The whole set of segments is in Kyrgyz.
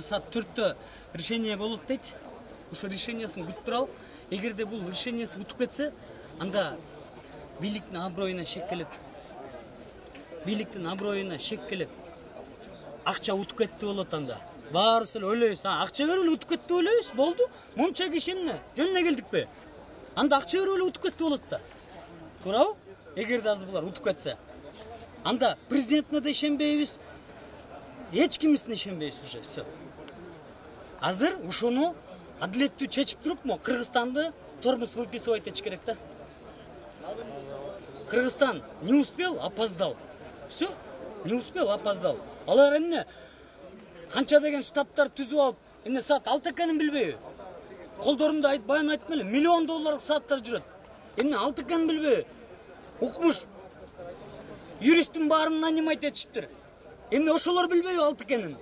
саат 4-тө решение болот дейт. Ошо решениясын күтүп туралы. Эгерде бул решениясы утуп кетсе, анда бийликтин аброюна шек келет. Бийликтин аброюна шек келет. Акча утуп кетти болот анда. Баарыбыз эле ойлойбуз, акча берип эле утуп кетти деп ойлойбуз. Болду. Мунча киши эмне? Жөн эле келдикпи? Анда акча берип эле утуп кетти болот да. Туурабы? Эгерде азыр булар утуп кетсе. Анда президентине да ишенбейбиз. Эч кимисине ишенбейбиз уже. Всё. Азыр ушуну адилеттүү чечип туруп, Кыргызстанды тормоз выписывать этиш керек да. Кыргызстан не успел, опоздал. Всё, не успел, опоздал. Алар эмне? Канча деген штабтар түзүп алып, эмне саат 6 экенин билбейби? Колдорунда баян айттым эле, миллион долларлык сааттар жүрөт. Эмне 6 экенин билбейби? Укмуш юристтин баарын нанимать этишиптир. Эмне ошолор билбейби 6 экенин?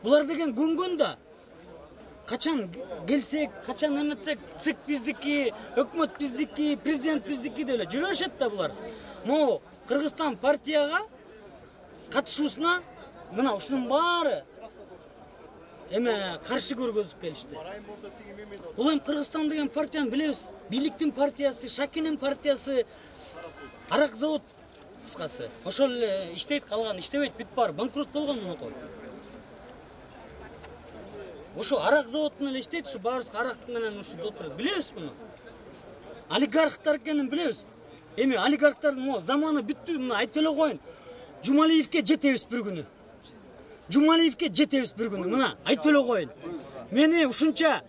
Булар деген көнгөн да. Качан келсек, качан эметсек, ЦИК биздики, өкмөт биздики, президент биздики деп эле жүрөшөт да булар. Могу Кыргызстан партияга катышуусуна мына ушунун баары каршы көргөзүп келишти. Бул эми Кыргызстан деген партияны билебиз. Бийликтин партиясы, Шакинин партиясы, арак завод кыскасы. Ошол эле иштейт, калган иштебейт, бүт баары банкрот болгон мунукой. Ошо арак заводун эле иштейт, ушу баарыбыз арак менен ушу отурат. Билебиз муну. Олигархтар экенин билебиз. Эми олигархтардын заманы бүттү, мына айтып эле коеюн. Жумалиевке жетебиз бир күнү. Жумалиевке жетебиз бир күнү. Мына айтып эле коеюн. Мени ушунча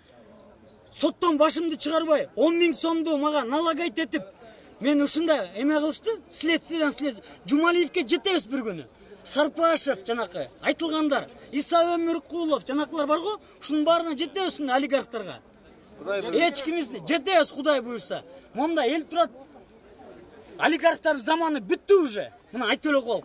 соттон башымды чыгарбай 10 000 сомду мага налагать этип, мен ушунда эме кылышты, следствиядан Жумалиевке жетебиз бир күнү. Сарпашев жанакы айтылгандар, Иса Өмүркулов жанакылар бар го, ушунун баарына жетебиз олигархтарга. Эч кимисине жетебиз Кудай буйрса. Монда эл турат. Олигархтар заманы бүттү уже. Мына айтып эле коел.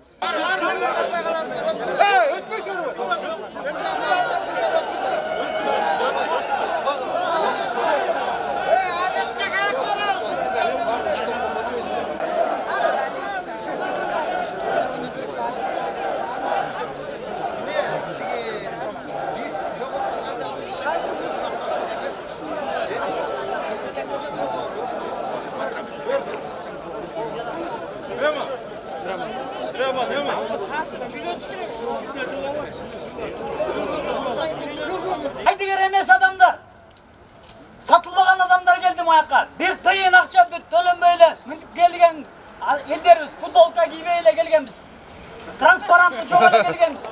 Айдыгер эмес адамдар, сатылбаган адамдар келди маяка. Бир тыйын акча төлөнбөй эле келген элдерибиз, футболка кийбей эле келгенбиз. Транспарантты жок эле келгенбиз.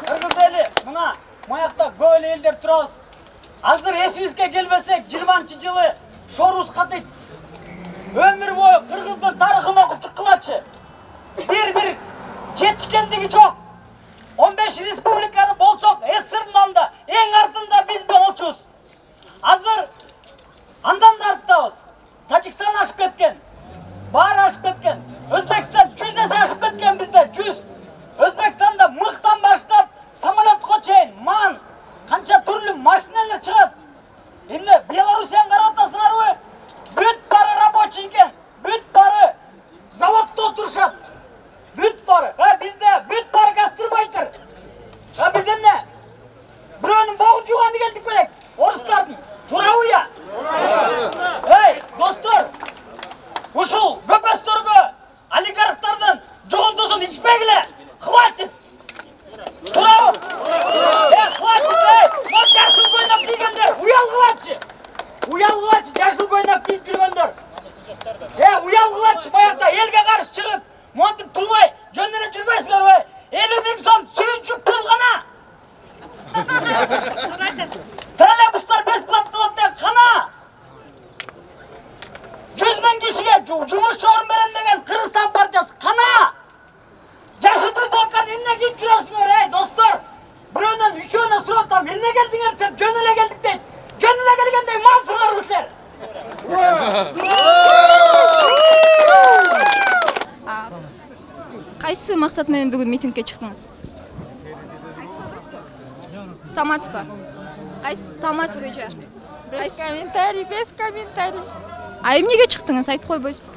Кыргыз эли, мына маякта көп эле элдер турабыз. Азыр эсибизге келбесек, 20-жылы шорубуз катыйт. Өмүр бою Кыргыздын тарыхын окуп чыккылачы. Бир жетишкендиги жок. 15 республикада болсок, СССРдин да эң артында биз болчубуз. Азыр андан да арттабыз. Тажикстан ашып кеткен. Баары ашып кеткен. Өзбекстан 100 эсе ашып кеткен бизде, 100. Өзбекстанда мыктан баштап самолетко чейин ман канча түрлүү машиналар чыгат. Эмне Белоруссияны карап атасыңарбы? Бүт бары рабочий экен. Бүт бары заводдо отурушат. Бүт бары. Бизде бүт бары гастарбайтер. Биз эмне? Бирөөнүн богун жууганды келдик белек. Орустардын. Туурабы я? Эй, достор. Ушул көпөстөргө олигархтардын жогондосун ичпегиле. Хватит. Туурабы? Хватит. Вот жашыл көйнөк кийгендер, уялгылачы. Уялгылачы, жашыл көйнөк кийип жүргөндөр. Уялгылачы, баягыда элге каршы чыгып, монтип турбай, жөн эле жүрбөйсүңөрбү? 50 000 сом сүйүнчүк пул гана. Троллейбустар бесплатно болот деп кана. 100 000 кишиге жумуш орун берем деген Кыргызстан партиясы кана. Жашыл футболканы эмне кийип жүрөсүңөр, достор? Бирөөнөн үчөөнө сурап атам, эмне келдиңер десем, жөн эле келдик дейт. Жөн эле келгендей малсыңарбы силер? Кайсы максат менен бүгүн митингге чыктыңыз? Саламатсызбы? Кайсы саламатсыз бойча? Без комментарий. А эмнеге чыктыңыз? Айтып койбойсузбу?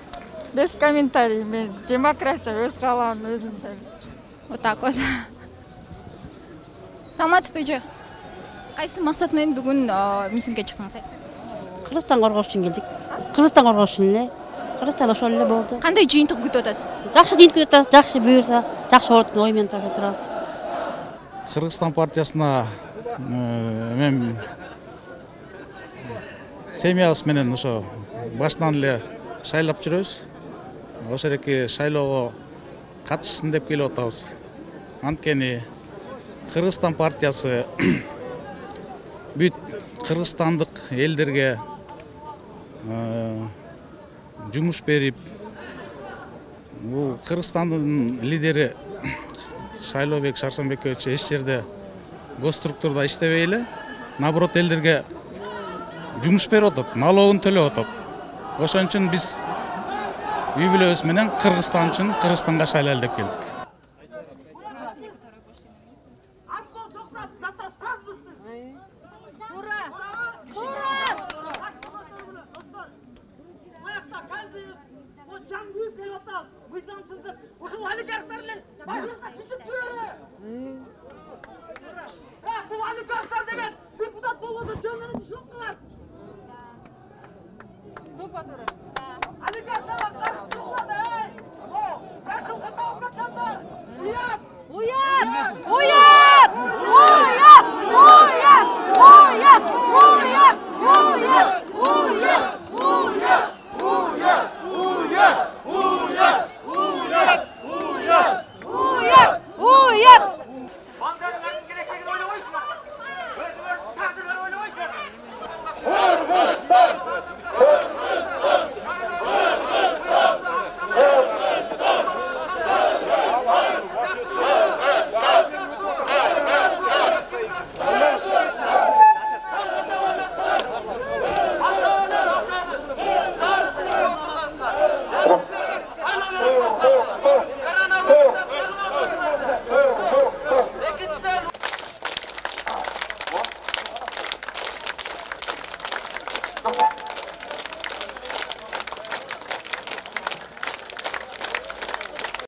Без комментарий. Мен демократия өз каалагым өзүм. Вот так вот. Саламатсызбы эже? Кайсы максат менен бүгүн митингге чыктыңыз? Кыргызстан коргош үчүн келдик. Кыргызстан коргош үчүн эле. Кыргызстан ошол эле болду. Кандай жыйынтык күтүп атасыз? Жакшы жыйынтык күтүп атабыз, жакшы буюрса, жакшы болот деген ой менен турабыз. Кыргызстан партиясына мен семьябыз менен ошо башынан эле шайлап жүрөбүз. Ошо эреки шайлоого катышсын деп келип атабыз. Анткени Кыргызстан партиясы бүт кыргызстандык элдерге жумуш берип, бул Кыргызстандын лидери Шайлообек Шаршембекович эч жерде гос структурада иштебей эле, наоборот элдерге жумуш берип атат, налогун төлөп атат. Ошон үчүн биз үй бүлөбүз менен Кыргызстан үчүн Кыргызстанга шайлайлы деп келдик. Ушул олигархтар менен башыбызга түшүп